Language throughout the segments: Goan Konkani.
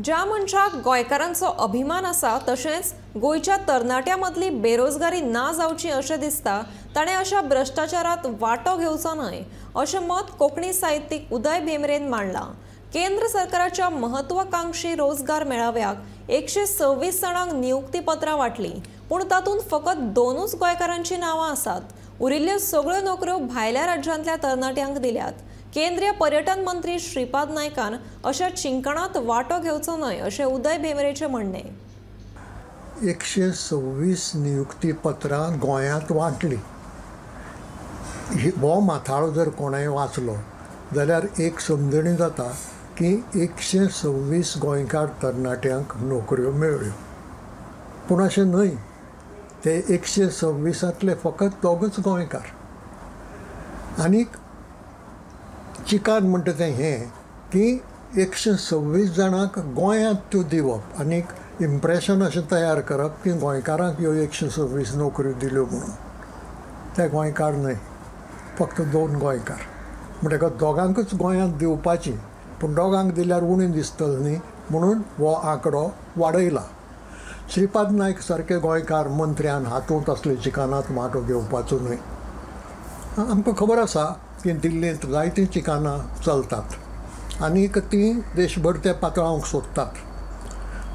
ज्या मनशाक गोंयकारांचो अभिमान आसा तशेंच गोंयच्या तरणाट्यां मदली बेरोजगारी ना जावची अशें दिसता ताणें अशा भ्रश्टाचारात वांटो घेवचो न्हय अशें मत कोंकणी साहित्यीक उदय भेंब्रेन मांडलां। केंद्र सरकाराच्या महत्वाकांक्षी रोजगार मेळाव्याक 126 जाणांक नियुक्तीपत्रां वांटलीं, पूण तातूंत फकत 2 गोंयकारांचीं नांवां आसात। उरिल्ल्यो सगळ्यो नोकऱ्यो भायल्या राज्यांतल्या तरणाट्यांक दिल्यात। केंद्रीय पर्यटन मंत्री श्रीपाद नायकान अशा चिंकणात वांटो घेवचो न्हय अशें उदय भेंब्रेचें म्हणणें। 126 नियुक्तीपत्रां गोंयांत वांटली। हो माथाळो जर कोणेंय वाचलो जाल्यार एक समजणी जाता की 126 गोंयकार तरणाट्यांक नोकऱ्यो मेळ्ळ्यो, पूण अशें न्हय। ते 126तांतले फकत 2 गोंयकार। आनीक चिकान म्हणटा तें हें की 126 जाणांक गोंयांत त्यो दिवप आनीक इम्प्रेशन अशें तयार करप की गोंयकारांक ह्यो 126 नोकऱ्यो दिल्यो म्हणून। ते गोंयकार न्हय, फक्त 2 गोंयकार। म्हणटकच दोगांकूच गोंयांत दिवपाची, पूण दोगांक दिल्यार उणी दिसतली न्ही म्हणून हो आंकडो वाडयला। श्रीपाद नायक सारके गोंयकार मंत्र्यान हातूंत असले चिकानांत वांटो घेवपाचो न्हय। आमकां खबर आसा की दिल्लींत जायतीं चिकानां चलतात आनीक तीं देशभर ते पातळावंक सोदतात।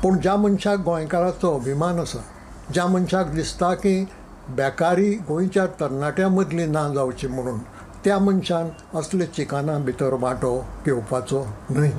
पूण ज्या मनशाक गोंयकाराचो अभिमान आसा, ज्या मनशाक दिसता की बेकारी गोंयच्या तरणाट्यां मदली ना जावची म्हणून, त्या मनशान असले चिकानां भितर वांटो घेवपाचो न्हय।